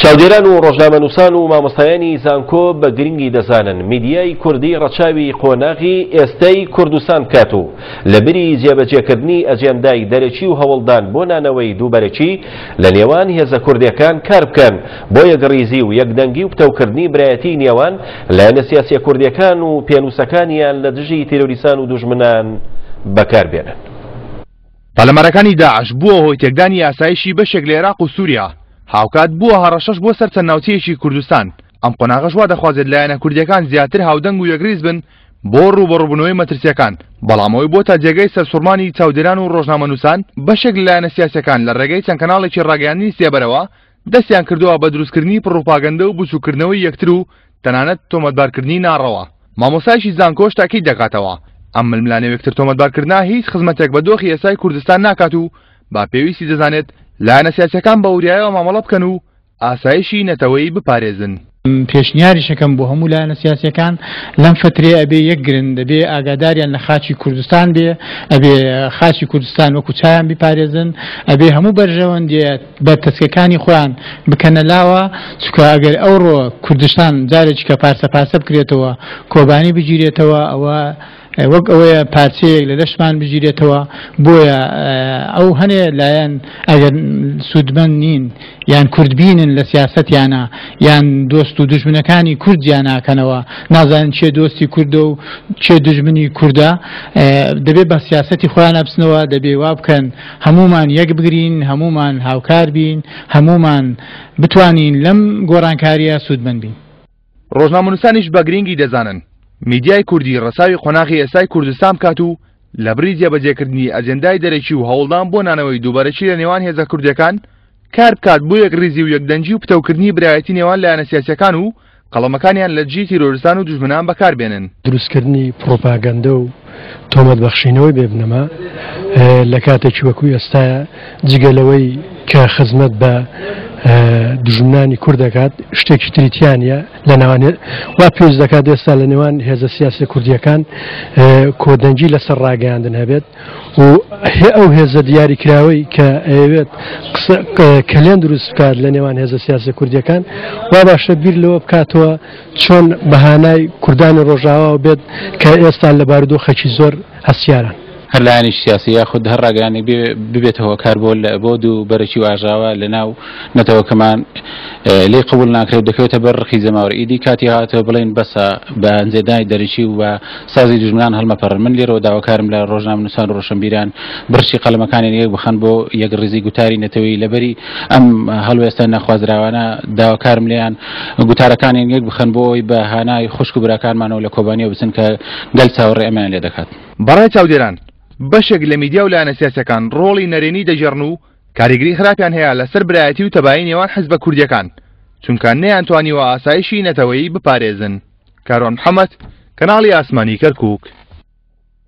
چاودێران و ڕۆژنامەنووسان و مامۆستایانی زانکۆ بە گرنگی دەزانن میدیای کوردی ڕەچاوی قۆناغی ئێستەی کوردستان بکات و لە بری جێبەجێکردنی ئەجێندای دەرەکی و هەوڵدان بۆ نانەوەی دووبەرەکی لە نێوان هێزە کوردیەکان کار بکەن بۆ یەکڕیزی و یەکدەنگی و پتەوکردنی برایەتی نێوان لایەنە سیاسیە کوردیەکان و پێنووسەکانیان لە دژی تیرۆریسان و دوژمنان بەکار بێنن. پەلامارەکانی داعش بووە هۆی تێکدانی ئاسایشی بەشێک لە عێراق و سووریا، هاوکات بووە هەڕەشەش بۆ سەر چەند ناوچەیەکی کوردستان، ئەم قۆناغەش وا دەخوازێت لایەنە کوردییەکان زیاتر هاودەنگ و یەکڕیز بن بۆ ڕووبەڕووبوونەوەی مەترسییەکان، بەڵام ئەوەی بۆتە جێگەی سەرسوڕمانی چاودێران و ڕۆژنامەنووسان، بەشێک لە لایەنە سیاسییەکان لە ڕێگەی چەند کەناڵێکی ڕاگەیاندنی سێبەرەوە دەستیان کردووە بە دروستکردنی پڕوپاگەندە و بچووککردنەوەی یەکتر و تەنانەت تۆمەتبارکردنی ناڕەوا. مامۆستایەکی زانکۆش تاکید دەکاتەوە، ئەم ململانێ و یەکتر تۆمەتبارکردنە هیچ خزمەتێک بە دۆخی ئێستای کوردستان ناکات و بە پێویستی دەزانێت لایەنە سیاسییەکان بە وریایەوە مامەڵە بکەن و ئاسایشی نەتەوەیی بپارێزن. پێشنیاریش ئەکەم بۆ هەموو لایەنە سیاسیەکان لەم فترەیە ئەبێ یەک گرن، دەبێ ئاگاداریان لە خاکی کوردستان بێ، ئەبێ خاکی کوردستان وەکو چایان بیپارێزن، ئەبێ هەموو بەرژەوەندیە بەرتەسکەکانی خۆیان بکەنە لاوە، چونکە ئەگەر ئەوڕۆ کوردستان جارێکی کە پارچە پارچە بکرێتەوە، کۆبانی بگیرێتەوە، ئەوە وەک ئەوەیە پارچەیەک لە لەشمان بگیرێتەوە، بۆیە ئەو هەنێ لایەن ئەگەر سوودمەند نین یان کوردبینن لە سیاسەتیانە یان دۆست و دوژمنەکانی کورد جیا ناکەنەوە، نازانن کێ دۆستی کوردە و کێ دوژمنی کوردە، دەبێ بە سیاسەتی خۆیان بچنەوە، دەبێ وا بکەن هەموومان یەک بگرین، هەموومان هاوکار بین، هەموومان بتوانین لەم گۆڕانکارییە سوودمەند بین. ڕۆژنامەنووسانیش بە گرینگی دەزانن میدیای کوردی ڕەچاوی قۆناغی ئێستای کوردستان بکات و لەبری جێبەجێکردنی ئەجێندای دەرەکی و هەوڵدان بۆ نانەوەی دووبەرەکی لە نێوان هێزە کوردیەکان کار بکات بۆ یەکڕیزی و یەکدەنگی و پتەوکردنی برایەتی نێوان لایەنە سیاسیەکان و قەڵەمەکانیان لە دژی تیرۆرستان و دوژمنان بەکار بێنن. دروستکردنی پڕۆپاگەندە و تۆمەت بەخشینەوەی بێ بنەما لە کاتێکی وەکو ئێستایا جگە لەوەی کە خزمەت بە دوژمنانی کورد دەکات شتێکی تری تیا نییە لە نێوان وا پێویست دەکات ئێستا لە نێوان هێزە سیاسیە کوردیەکان کۆدەنگی لەسەر ڕاگەیاندن هەبێت و ئەو هێزە دیاریکراوەی کە ئەیەوێت قسە کەلێن دروست بکات لە نێوان هێزە سیاسە کوردیەکان وا باشە بیر لەوە بکاتەوە چۆن بەهانای کوردانی ڕۆژاواوە بێت کە ئێستا لە بارودۆخێکی زۆر هەستیارن. هەر لایەنێکی سیاسی یاخود هەر ڕاگەیاندنێک ببێتە هۆکار بۆ بۆ دوو بەرەکی و ئاژاوە لە ناو نەتەوەکەمان لێی قبوڵ ناکرێت دەکەوێتە بەر ڕقی جەماوەر ئیدی کاتی هاتووە بڵێین بەسە بە ئەنجێدانی دەرەکی و بە سازی دوژمنان هەڵمەپەڕن من لێرەوە داواکارم لە ڕۆژنامەنووسان و ڕۆشنبیران بڕشی قەڵەمەکانیان یەک بخەن بۆ یەکڕیزی گوتاری نەتەوەیی لەبەری ئەم هەڵوێستە نەخوازراوانە داواکارم لێیان گوتارەکانیان یەک بخەن بۆ ئەوەی بە هانای خوشک و براکانمانەوە لە کۆبانیەوە بچن کە گەل چاوەڕێ ئەمەیان لێ دەکات. بەڕای چاودێران، بەشێک لە میدیا و لایەنە سیاسیەکان ڕۆڵی نەرێنی دەگێڕن و کاریگری خراپیان هەیە لەسەر برایەتی و تەبایی نێوان حزبە کوردیەکان، چونکە نەیانتوانیوە ئاسایشی نەتەوەیی بپارێزن. کاروان محەمەد، کەناڵی ئاسمانی کەرکوک.